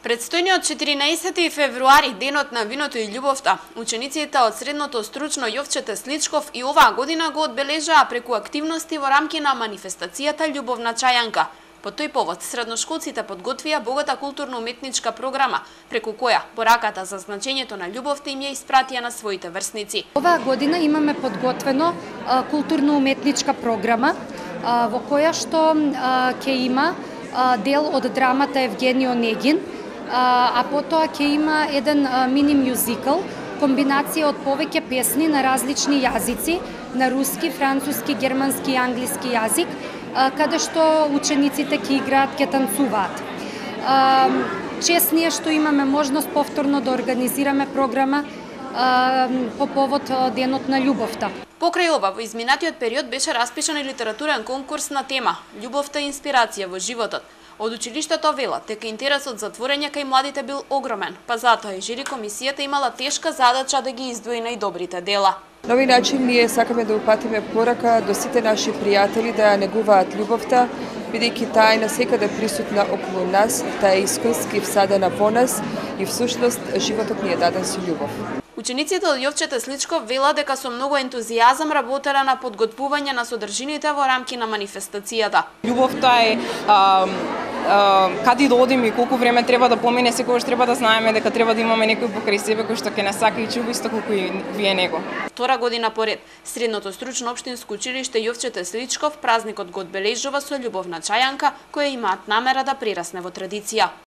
Предстојниот 14 февруари, денот на виното и љубовта, учениците од средното стручно Јовче Тесличков и оваа година го одбележаа преку активности во рамки на манифестацијата Љубовна чајанка. По тој повод, средношколците подготвија богата културно-уметничка програма, преку која пораката за значењето на љубовта им ја испратија на своите врсници. Оваа година имаме подготвено културно-уметничка програма во која што ќе има дел од драмата Евгениј Онегин, а потоа ќе има еден мини мюзикл, комбинација од повеќе песни на различни јазици, на руски, француски, германски и англиски јазик, каде што учениците ќе играат, ќе танцуваат. Чест ние што имаме можност повторно да организираме програма по повод денот на љубовта. Покрај ова, во изминатиот период беше распишан и литературен конкурс на тема Љубовта и инспирација во животот. Од училиштето велат дека интересот за творење кај младите бил огромен, па затоа и жири комисијата имала тешка задача да ги издвои најдобрите дела. На овој начин ние сакаме да упатиме порака до сите наши пријатели да ја негуваат љубовта, бидејќи таа е насекаде присутна околу нас, таа е исконски всадена во нас и всушност животот ни е даден со љубов. Учениците од Јовче Тесличков велат дека со многу ентузијазам работеле на подготвување на содржините во рамки на манифестацијата. Љубовта е каде да одиме и колку време треба да помине, секогаш треба да знаеме дека треба да имаме некој покрај себе кој што ќе не сака и чуба исто колку и вие него. Втора година поред, Средното стручно општинско училиште Јовче Тесличков празникот го одбележува со љубовна чајанка, која имаат намера да прерасне во традиција.